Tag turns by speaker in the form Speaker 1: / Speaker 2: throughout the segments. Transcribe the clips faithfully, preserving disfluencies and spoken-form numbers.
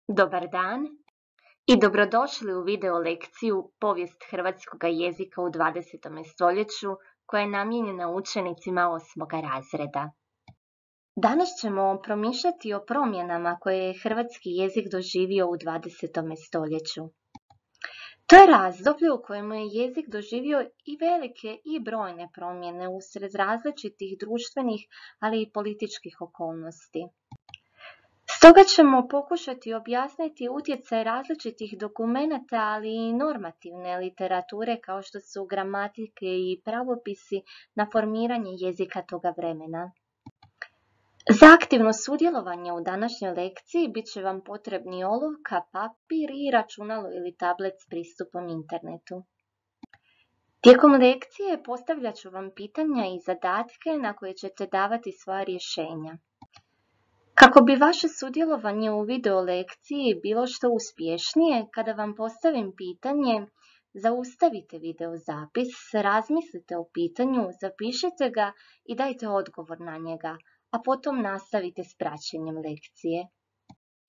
Speaker 1: Dobar dan i dobrodošli u video lekciju Povijest hrvatskog jezika u dvadesetom stoljeću koja je namijenjena učenicima osmog razreda. Danas ćemo promišljati o promjenama koje je hrvatski jezik doživio u dvadesetom stoljeću. To je razdoblje u kojemu je jezik doživio i velike i brojne promjene usred različitih društvenih, ali i političkih okolnosti. Stoga ćemo pokušati objasniti utjecaj različitih dokumenata, ali i normativne literature kao što su gramatike i pravopisi na formiranje jezika toga vremena. Za aktivno sudjelovanje u današnjoj lekciji bit će vam potrebni olovka, papir i računalo ili tablet s pristupom internetu. Tijekom lekcije postavljat ću vam pitanja i zadatke na koje ćete davati svoja rješenja. Kako bi vaše sudjelovanje u video lekciji bilo što uspješnije, kada vam postavim pitanje, zaustavite video zapis, razmislite o pitanju, zapišite ga i dajte odgovor na njega, a potom nastavite s praćenjem lekcije.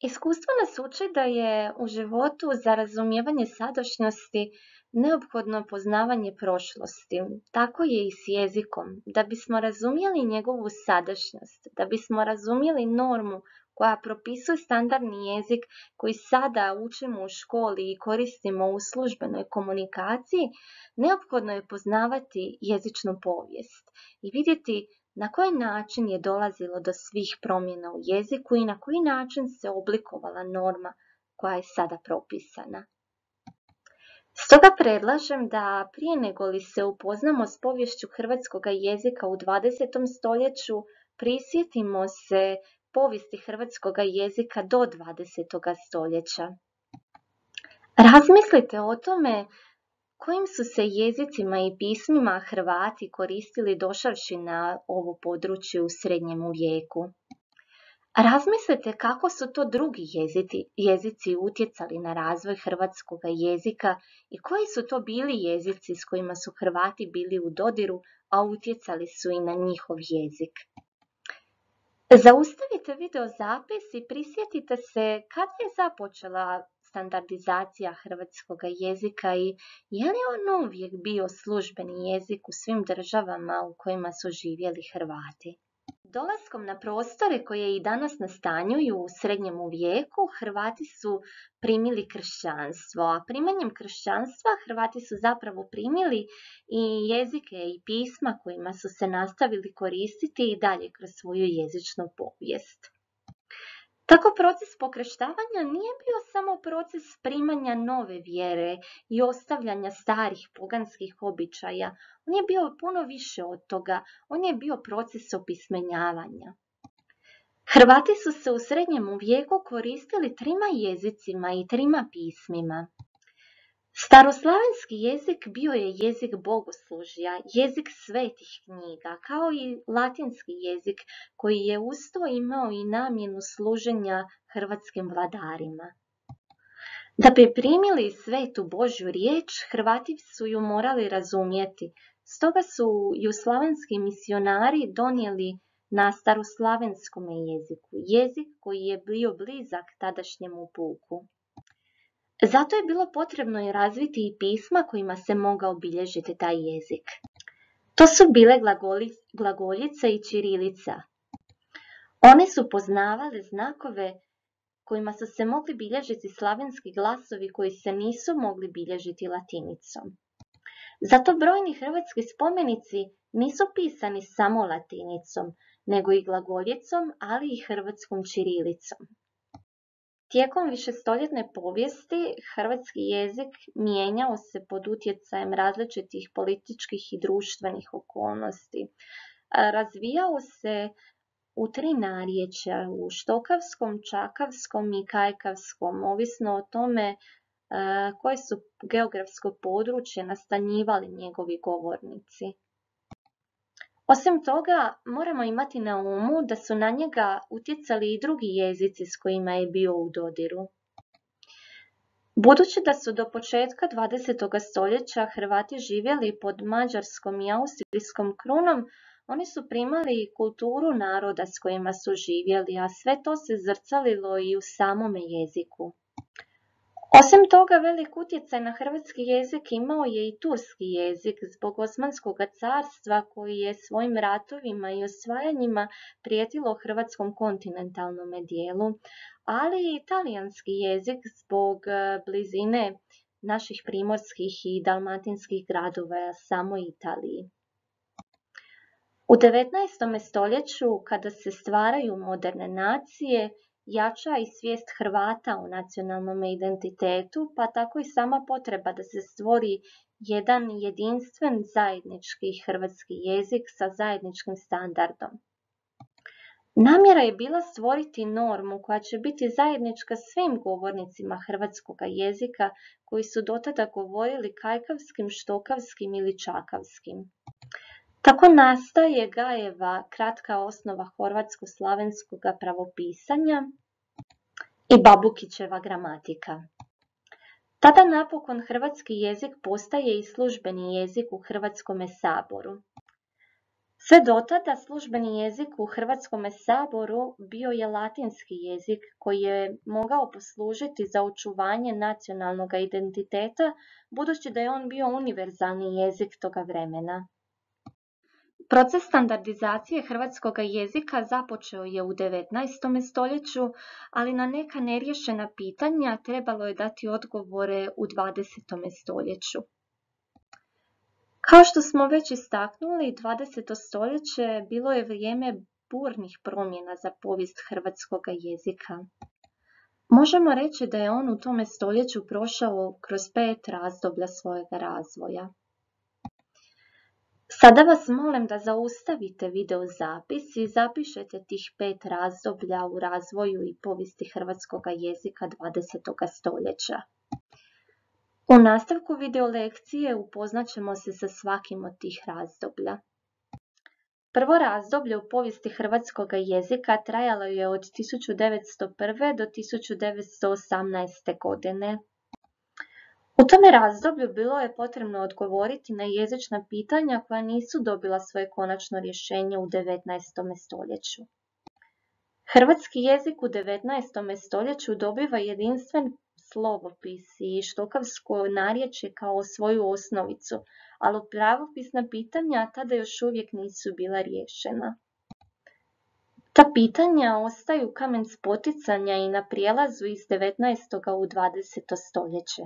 Speaker 1: Iskustvo nas uči da je u životu za razumijevanje sadašnjosti neophodno poznavanje prošlosti. Tako je i s jezikom. Da bismo razumjeli njegovu sadašnjost, da bismo razumjeli normu koja propisuje standardni jezik koji sada učimo u školi i koristimo u službenoj komunikaciji, neophodno je poznavati jezičnu povijest i vidjeti na koji način je dolazilo do svih promjena u jeziku i na koji način se oblikovala norma koja je sada propisana. Stoga predlažem da prije nego li se upoznamo s poviješću hrvatskog jezika u dvadesetom stoljeću, prisjetimo se povijesti hrvatskog jezika do dvadesetog stoljeća. Razmislite o tome kojim su se jezicima i pismima Hrvati koristili došavši na ovo područje u srednjem vijeku. Razmislite kako su to drugi jezici, jezici utjecali na razvoj hrvatskog jezika i koji su to bili jezici s kojima su Hrvati bili u dodiru, a utjecali su i na njihov jezik. Zaustavite video zapis i prisjetite se kad je započela standardizacija hrvatskog jezika i je li on uvijek bio službeni jezik u svim državama u kojima su živjeli Hrvati. Dolaskom na prostore koje i danas nastanjuju u srednjem vijeku, Hrvati su primili kršćanstvo, a primanjem kršćanstva Hrvati su zapravo primili i jezike i pisma kojima su se nastavili koristiti i dalje kroz svoju jezičnu povijest. Tako proces pokrštavanja nije bio samo proces primanja nove vjere i ostavljanja starih poganskih običaja. On je bio puno više od toga. On je bio proces opismenjavanja. Hrvati su se u srednjem vijeku koristili trima jezicima i trima pismima. Staroslavenski jezik bio je jezik bogoslužja, jezik svetih knjiga, kao i latinski jezik koji je uz to imao i namjenu služenja hrvatskim vladarima. Da bi primili svetu Božju riječ, Hrvati su ju morali razumjeti, stoga su ju slavenski misionari donijeli na staroslavenskom jeziku, jezik koji je bio blizak tadašnjemu puku. Zato je bilo potrebno i razviti i pisma kojima se mogao obilježiti taj jezik. To su bile glagoljica i ćirilica. One su poznavale znakove kojima su se mogli bilježiti slavenski glasovi koji se nisu mogli bilježiti latinicom. Zato brojni hrvatski spomenici nisu pisani samo latinicom, nego i glagoljicom, ali i hrvatskom ćirilicom. Tijekom višestoljetne povijesti hrvatski jezik mijenjao se pod utjecajem različitih političkih i društvenih okolnosti. Razvijao se u tri narječja, u štokavskom, čakavskom i kajkavskom, ovisno o tome koje su geografsko područje nastanjivali njegovi govornici. Osim toga, moramo imati na umu da su na njega utjecali i drugi jezici s kojima je bio u dodiru. Budući da su do početka dvadesetog stoljeća Hrvati živjeli pod mađarskom i austrijskom krunom, Oni su primali kulturu naroda s kojima su živjeli, a sve to se zrcalilo i u samome jeziku. Osim toga, velik utjecaj na hrvatski jezik imao je i turski jezik zbog Osmanskog carstva koji je svojim ratovima i osvajanjima prijetilo hrvatskom kontinentalnom dijelu, ali i talijanski jezik zbog blizine naših primorskih i dalmatinskih gradova samoj Italiji. U devetnaestom stoljeću, kada se stvaraju moderne nacije, jača i svijest Hrvata o nacionalnom identitetu, pa tako i sama potreba da se stvori jedan jedinstven zajednički hrvatski jezik sa zajedničkim standardom. Namjera je bila stvoriti normu koja će biti zajednička svim govornicima hrvatskog jezika koji su dotada govorili kajkavskim, štokavskim ili čakavskim. Tako nastaje Gajeva kratka osnova horvatsko-slavenskog pravopisanja i Babukićeva gramatika. Tada napokon hrvatski jezik postaje i službeni jezik u Hrvatskome saboru. Sve dotada službeni jezik u Hrvatskome saboru bio je latinski jezik koji je mogao poslužiti za očuvanje nacionalnog identiteta, budući da je on bio univerzalni jezik toga vremena. Proces standardizacije hrvatskog jezika započeo je u devetnaestom stoljeću, ali na neka neriješena pitanja trebalo je dati odgovore u dvadesetom stoljeću. Kao što smo već istaknuli, dvadeseto stoljeće bilo je vrijeme burnih promjena za povijest hrvatskog jezika. Možemo reći da je on u tome stoljeću prošao kroz pet razdoblja svojega razvoja. Sada vas molim da zaustavite video zapis i zapišete tih pet razdoblja u razvoju i povijesti hrvatskog jezika dvadesetog stoljeća. U nastavku video lekcije upoznat ćemo se sa svakim od tih razdoblja. Prvo razdoblje u povijesti hrvatskog jezika trajalo je od tisuću devetsto prve. do tisuću devetsto osamnaeste. godine. U tome razdoblju bilo je potrebno odgovoriti na jezična pitanja koja nisu dobila svoje konačno rješenje u devetnaestom stoljeću. Hrvatski jezik u devetnaestom stoljeću dobiva jedinstven slovopis i štokavsko narječje kao svoju osnovicu, ali pravopisna pitanja tada još uvijek nisu bila riješena. Ta pitanja ostaju kamen spoticanja i na prijelazu iz devetnaestog u dvadeseto stoljeće.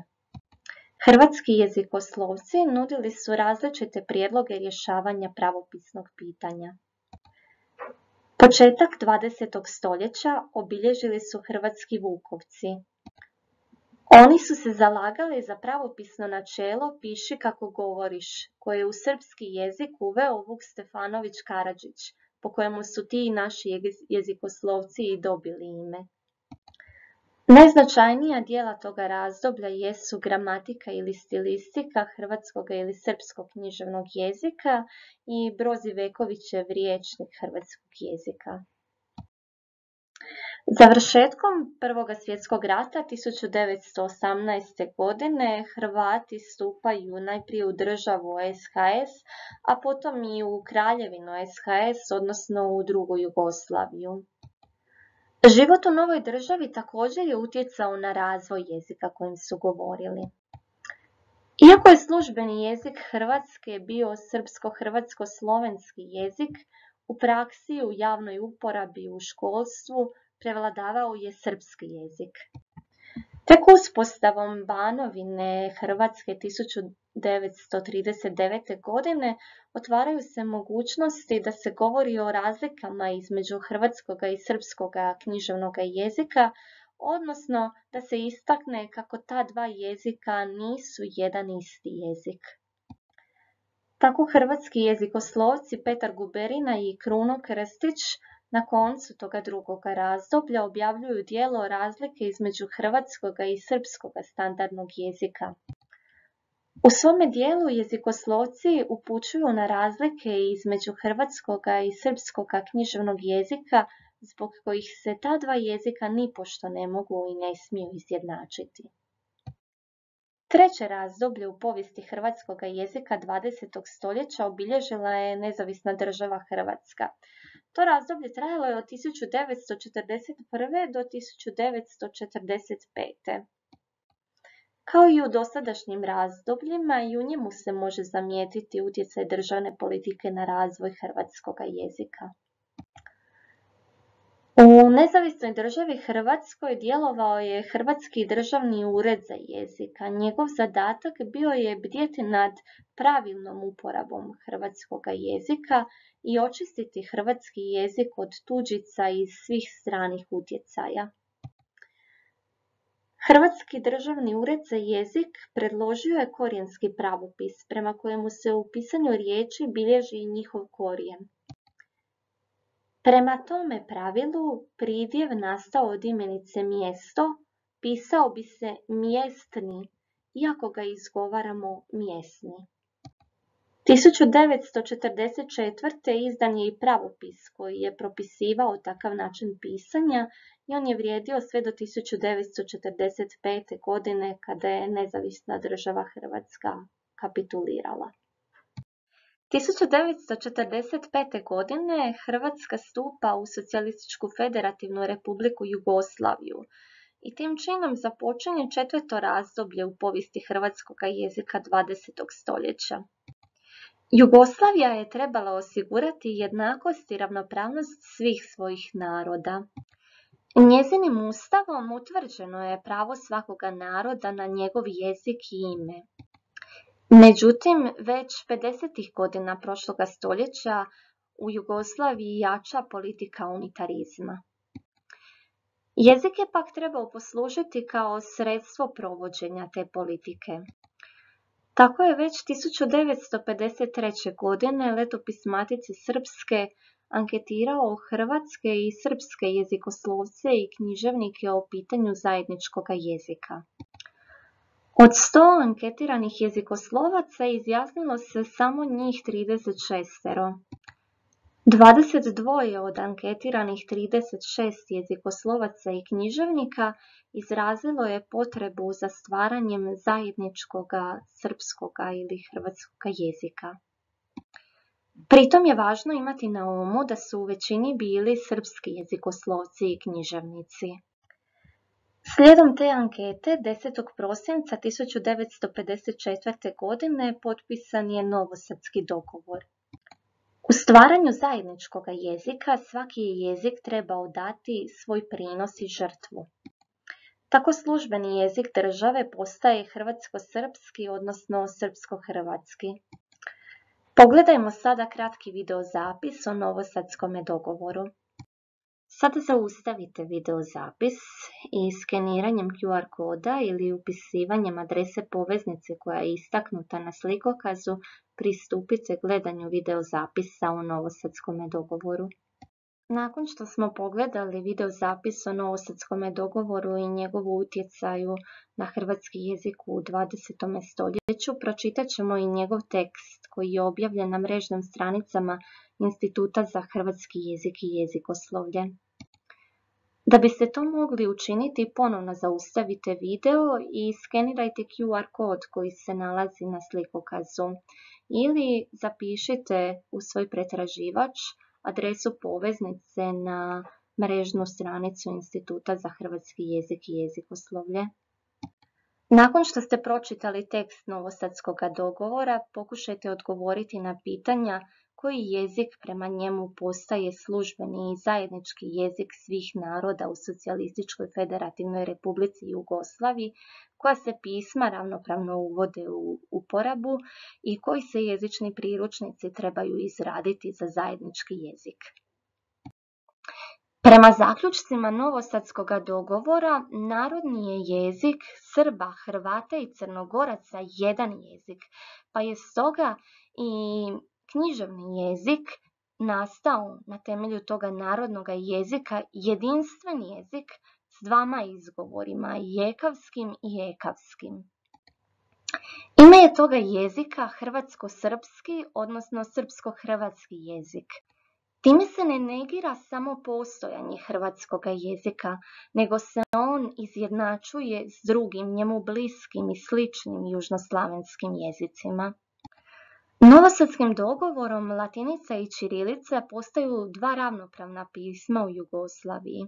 Speaker 1: Hrvatski jezikoslovci nudili su različite prijedloge rješavanja pravopisnog pitanja. Početak dvadesetog stoljeća obilježili su hrvatski vukovci. Oni su se zalagali za pravopisno načelo piši kako govoriš, koje je u srpski jezik uveo Vuk Stefanović Karadžić, po kojemu su ti naši jezikoslovci i dobili ime. Najznačajnija dijela toga razdoblja jesu gramatika ili stilistika hrvatskog ili srpskog književnog jezika i Brozivekovićev rječnik hrvatskog jezika. Završetkom Prvog svjetskog rata tisuću devetsto osamnaeste. godine Hrvati stupaju najprije u državu S H S, a potom i u kraljevinu S H S, odnosno u drugu Jugoslaviju. Život u novoj državi također je utjecao na razvoj jezika kojim su govorili. Iako je službeni jezik Hrvatske bio srpsko-hrvatsko-slovenski jezik, u praksi, u javnoj uporabi, u školstvu prevladavao je srpski jezik. Tek uspostavom Banovine Hrvatske tisuću devetsto trideset devete. godine otvaraju se mogućnosti da se govori o razlikama između hrvatskog i srpskog književnog jezika, odnosno da se istakne kako ta dva jezika nisu jedan isti jezik. Tako hrvatski jezikoslovci Petar Guberina i Kruno Krstić na koncu toga drugog razdoblja objavljuju djelo razlike između hrvatskog i srpskog standardnog jezika. U svome dijelu jezikoslovci upućuju na razlike između hrvatskog i srpskog književnog jezika, zbog kojih se ta dva jezika nipošto ne mogu i ne smiju izjednačiti. Treće razdoblje u povijesti hrvatskog jezika dvadesetog stoljeća obilježila je nezavisna država Hrvatska. To razdoblje trajalo je od tisuću devetsto četrdeset prve. do tisuću devetsto četrdeset pete. Kao i u dosadašnjim razdobljima, i u njemu se može zamijetiti utjecaj državne politike na razvoj hrvatskog jezika. U nezavisnoj državi Hrvatskoj djelovao je Hrvatski državni ured za jezik, a njegov zadatak bio je bdjeti nad pravilnom uporabom hrvatskog jezika i očistiti hrvatski jezik od tuđica i svih stranih utjecaja. Hrvatski državni ured za jezik predložio je korijenski pravopis, prema kojemu se u pisanju riječi bilježi njihov korijen. Prema tome pravilu, pridjev nastao od imenice mjesto pisao bi se mjestni, iako ga izgovaramo mjesni. tisuću devetsto četrdeset četvrte. izdan je i pravopis koji je propisivao takav način pisanja i on je vrijedio sve do tisuću devetsto četrdeset pete. godine kada je nezavisna država Hrvatska kapitulirala. tisuću devetsto četrdeset pete. godine Hrvatska stupa u Socijalističku federativnu republiku Jugoslaviju i tim činom započinje četvrto razdoblje u povijesti hrvatskog jezika dvadesetog stoljeća. Jugoslavija je trebala osigurati jednakost i ravnopravnost svih svojih naroda. Njezinim ustavom utvrđeno je pravo svakoga naroda na njegov jezik i ime. Međutim, već pedesetih godina prošloga stoljeća u Jugoslaviji jača politika unitarizma. Jezik je pak trebao poslužiti kao sredstvo provođenja te politike. Tako je već tisuću devetsto pedeset treće. godine letopis Matice Srpske anketirao hrvatske i srpske jezikoslovce i književnike o pitanju zajedničkog jezika. Od sto anketiranih jezikoslovaca izjasnilo se samo njih trideset šest. dvadeset dva od anketiranih trideset šest jezikoslovaca i književnika izrazilo je potrebu za stvaranjem zajedničkog srpskog ili hrvatskog jezika. Pritom je važno imati na umu da su u većini bili srpski jezikoslovci i književnici. Slijedom te ankete, desetog prosinca tisuću devetsto pedeset četvrte. godine potpisan je Novosadski dogovor. U stvaranju zajedničkog jezika svaki je jezik trebao dati svoj prinos i žrtvu. Tako službeni jezik države postaje hrvatsko-srpski, odnosno srpsko-hrvatski. Pogledajmo sada kratki videozapis o Novosadskom dogovoru. Sada zaustavite videozapis i skeniranjem Q R koda ili upisivanjem adrese poveznice koja je istaknuta na slikokazu pristupite gledanju videozapisa o Novosadskom dogovoru. Nakon što smo pogledali videozapis o Novosadskom dogovoru i njegovu utjecaju na hrvatski jezik u dvadesetom stoljeću, pročitat ćemo i njegov tekst koji je objavljen na mrežnim stranicama Instituta za hrvatski jezik i jezikoslovlje. Da biste to mogli učiniti, ponovno zaustavite video i skenirajte Q R kod koji se nalazi na slikokazu ili zapišite u svoj pretraživač adresu poveznice na mrežnu stranicu Instituta za hrvatski jezik i jezikoslovlje. Nakon što ste pročitali tekst Novosadskog dogovora, pokušajte odgovoriti na pitanja koji jezik prema njemu postaje službeni i zajednički jezik svih naroda u Socijalističkoj federativnoj republici Jugoslaviji, koja se pisma ravnopravno uvode u uporabu i koji se jezični priručnici trebaju izraditi za zajednički jezik. Prema zaključcima Novosadskog dogovora, narodni je jezik Srba, Hrvata i Crnogoraca jedan jezik, pa je stoga i književni jezik nastao na temelju toga narodnog jezika jedinstven jezik s dvama izgovorima, jekavskim i ekavskim. Ime je toga jezika hrvatsko-srpski, odnosno srpsko-hrvatski jezik. Time se ne negira samo postojanje hrvatskog jezika, nego se on izjednačuje s drugim njemu bliskim i sličnim južnoslavenskim jezicima. Novosadskim dogovorom latinica i ćirilica postaju dva ravnopravna pisma u Jugoslaviji.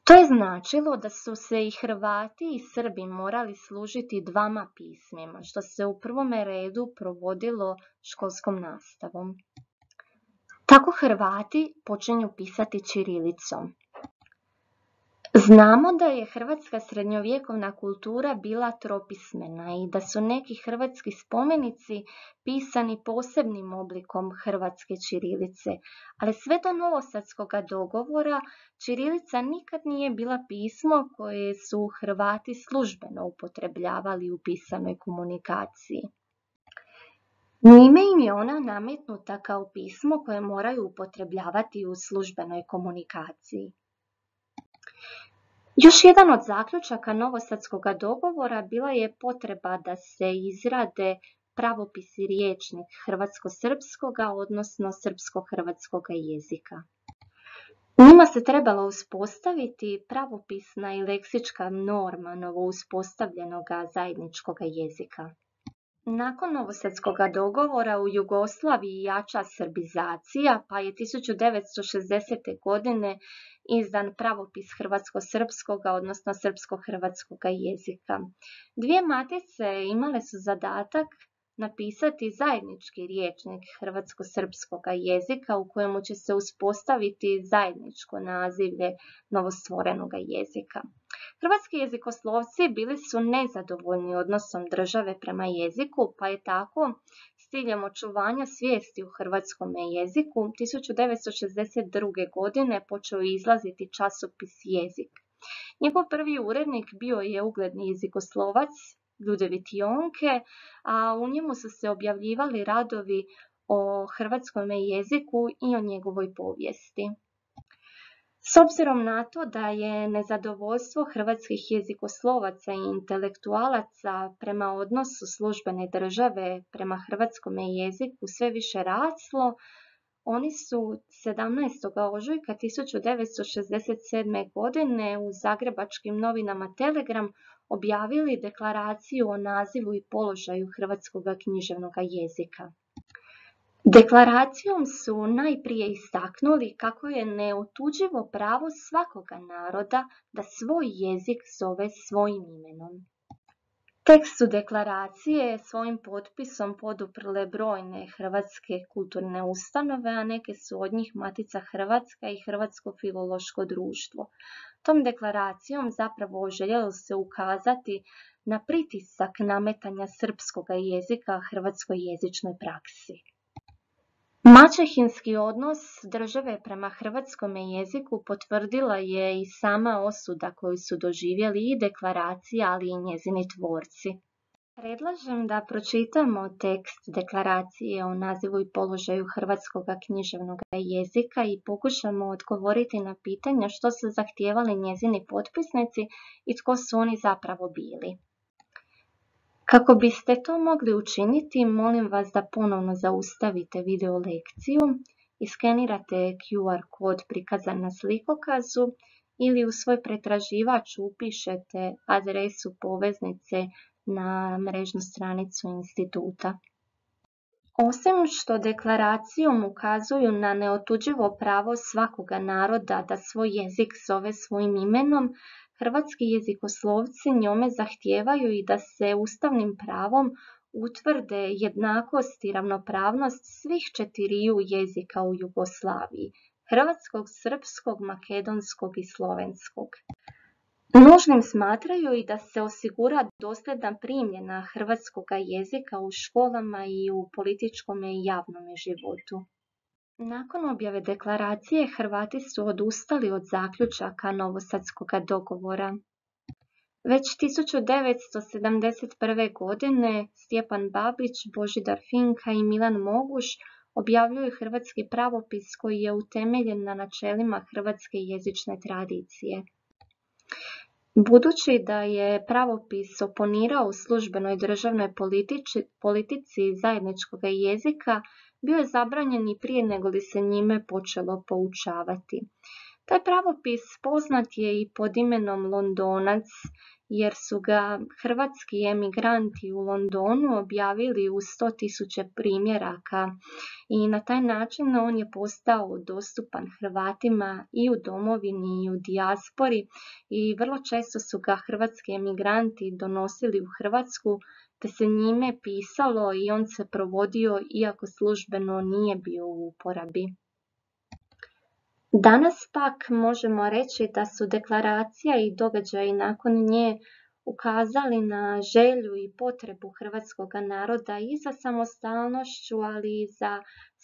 Speaker 1: To je značilo da su se i Hrvati i Srbi morali služiti dvama pismima, što se u prvome redu provodilo školskom nastavom. Tako Hrvati počinju pisati ćirilicom. Znamo da je hrvatska srednjovjekovna kultura bila tropismena i da su neki hrvatski spomenici pisani posebnim oblikom hrvatske ćirilice, ali sve do Novosadskog dogovora ćirilica nikad nije bila pismo koje su Hrvati službeno upotrebljavali u pisanoj komunikaciji. Njime im je ona nametnuta kao pismo koje moraju upotrebljavati u službenoj komunikaciji. Još jedan od zaključaka Novosadskog dogovora bila je potreba da se izrade pravopis i rječnik hrvatsko-srpskog, odnosno srpsko-hrvatskog jezika. Njima se trebala uspostaviti pravopisna i leksička norma novouspostavljenog zajedničkog jezika. Nakon Novosadskog dogovora u Jugoslaviji jača srbizacija, pa je tisuću devetsto šezdesete. godine izdan pravopis hrvatsko-srpskog, odnosno srpsko-hrvatskog jezika. Dvije matice imale su zadatak napisati zajednički rječnik hrvatsko-srpskog jezika u kojemu će se uspostaviti zajedničko nazivlje novostvorenog jezika. Hrvatski jezikoslovci bili su nezadovoljni odnosom države prema jeziku, pa je tako s ciljem očuvanja svijesti u hrvatskom jeziku tisuću devetsto šezdeset druge. godine počeo izlaziti časopis Jezik. Njegov prvi urednik bio je ugledni jezikoslovac Ljudevit Jonke, a u njemu su se objavljivali radovi o hrvatskom jeziku i o njegovoj povijesti. S obzirom na to da je nezadovoljstvo hrvatskih jezikoslovaca i intelektualaca prema odnosu službene države prema hrvatskom jeziku sve više raslo, oni su sedamnaestog ožujka tisuću devetsto šezdeset sedme. godine u zagrebačkim novinama Telegram objavili deklaraciju o nazivu i položaju hrvatskog književnog jezika. Deklaracijom su najprije istaknuli kako je neotuđivo pravo svakoga naroda da svoj jezik zove svojim imenom. Tekst su deklaracije svojim potpisom poduprle brojne hrvatske kulturne ustanove, a neke su od njih Matica Hrvatska i Hrvatsko filološko društvo. Tom deklaracijom zapravo željelo se ukazati na pritisak nametanja srpskog jezika hrvatskoj jezičnoj praksi. Maćehinski odnos države prema hrvatskom jeziku potvrdila je i sama osuda koju su doživjeli i deklaracija, ali i njezini tvorci. Predlažem da pročitamo tekst deklaracije o nazivu i položaju hrvatskog književnog jezika i pokušamo odgovoriti na pitanje što su zahtijevali njezini potpisnici i tko su oni zapravo bili. Kako biste to mogli učiniti, molim vas da ponovno zaustavite video lekciju, iskenirate Q R kod prikazan na slikokazu ili u svoj pretraživač upišete adresu poveznice na mrežnu stranicu instituta. Osim što deklaracijom ukazuju na neotuđivo pravo svakoga naroda da svoj jezik zove svojim imenom, hrvatski jezikoslovci njome zahtijevaju i da se ustavnim pravom utvrde jednakost i ravnopravnost svih četiriju jezika u Jugoslaviji, hrvatskog, srpskog, makedonskog i slovenskog. Nužnim smatraju i da se osigura dosljedna primjena hrvatskog jezika u školama i u političkom i javnom životu. Nakon objave deklaracije, Hrvati su odustali od zaključaka Novosadskog dogovora. Već tisuću devetsto sedamdeset prve. godine Stjepan Babić, Božidar Finka i Milan Moguš objavljuju hrvatski pravopis koji je utemeljen na načelima hrvatske jezične tradicije. Budući da je pravopis oponirao u službenoj državnoj politici, politici zajedničkog jezika, bio je zabranjen i prije nego li se njime počelo poučavati. Taj pravopis poznat je i pod imenom Londonac, jer su ga hrvatski emigranti u Londonu objavili u sto tisuća primjeraka i na taj način on je postao dostupan Hrvatima i u domovini i u dijaspori i vrlo često su ga hrvatski emigranti donosili u Hrvatsku te se njime pisalo i on se provodio iako službeno nije bio u uporabi. Danas pak možemo reći da su deklaracija i događaji nakon nje ukazali na želju i potrebu hrvatskog naroda i za samostalnošću, ali i za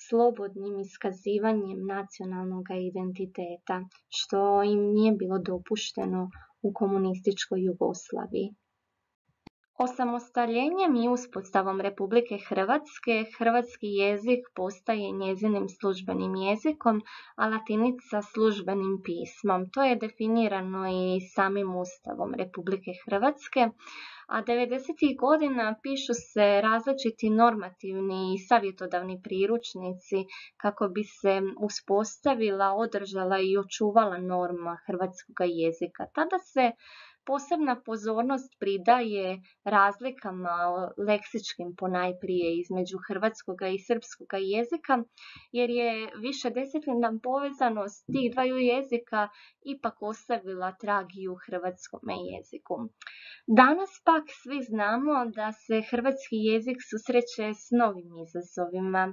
Speaker 1: slobodnim iskazivanjem nacionalnog identiteta, što im nije bilo dopušteno u komunističkoj Jugoslaviji. Osamostaljenjem i uspostavom Republike Hrvatske, hrvatski jezik postaje njezinim službenim jezikom, a latinica službenim pismom. To je definirano i samim Ustavom Republike Hrvatske, a devedesetih godina pišu se različiti normativni i savjetodavni priručnici kako bi se uspostavila, održala i očuvala norma hrvatskog jezika. Tada se posebna pozornost pridaje razlikama leksičkim ponajprije između hrvatskog i srpskog jezika, jer je višedesetljetna povezanost tih dvaju jezika ipak ostavila trag i u hrvatskom jeziku. Danas pak svi znamo da se hrvatski jezik susreće s novim izazovima.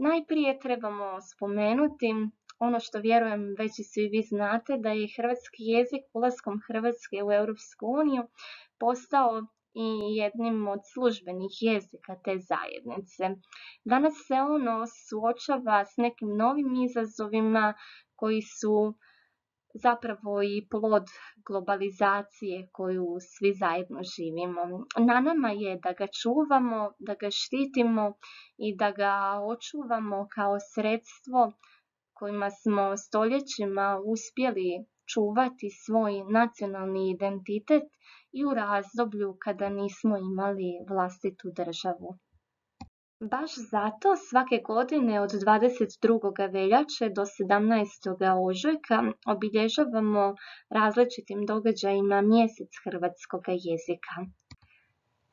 Speaker 1: Najprije trebamo spomenuti ono što vjerujem već i svi vi znate, da je hrvatski jezik ulaskom Hrvatske u Europsku uniju postao i jednim od službenih jezika te zajednice. Danas se ono suočava s nekim novim izazovima koji su zapravo i plod globalizacije koju svi zajedno živimo. Na nama je da ga čuvamo, da ga štitimo i da ga očuvamo kao sredstvo kojima smo stoljećima uspjeli čuvati svoj nacionalni identitet i u razdoblju kada nismo imali vlastitu državu. Baš zato svake godine od dvadeset drugog veljače do sedamnaestog ožujka obilježavamo različitim događajima mjesec hrvatskog jezika.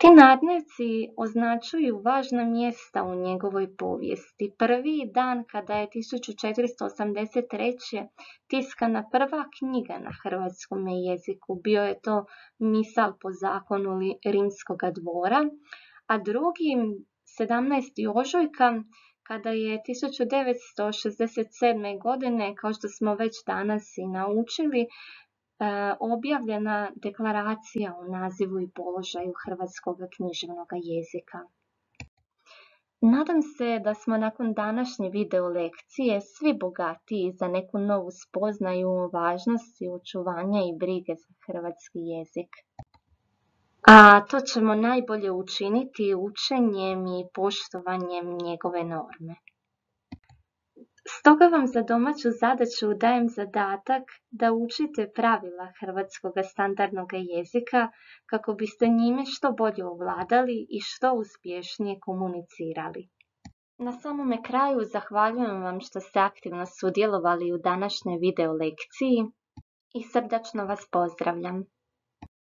Speaker 1: Ti nadnevci označuju važna mjesta u njegovoj povijesti. Prvi dan kada je tisuću četiristo osamdeset treće. tiskana prva knjiga na hrvatskom jeziku, bio je to Misal po zakonu rimskog dvora, a drugi sedamnaestog ožujka kada je tisuću devetsto šezdeset sedme. godine, kao što smo već danas i naučili, objavljena deklaracija o nazivu i položaju hrvatskog književnog jezika. Nadam se da smo nakon današnje video lekcije svi bogatiji za neku novu spoznaju o važnosti očuvanja i brige za hrvatski jezik. A to ćemo najbolje učiniti učenjem i poštovanjem njegove norme. Stoga vam za domaću zadaću dajem zadatak da učite pravila hrvatskog standardnog jezika kako biste njime što bolje ovladali i što uspješnije komunicirali. Na samome kraju zahvaljujem vam što ste aktivno sudjelovali u današnjoj video lekciji i srdačno vas pozdravljam.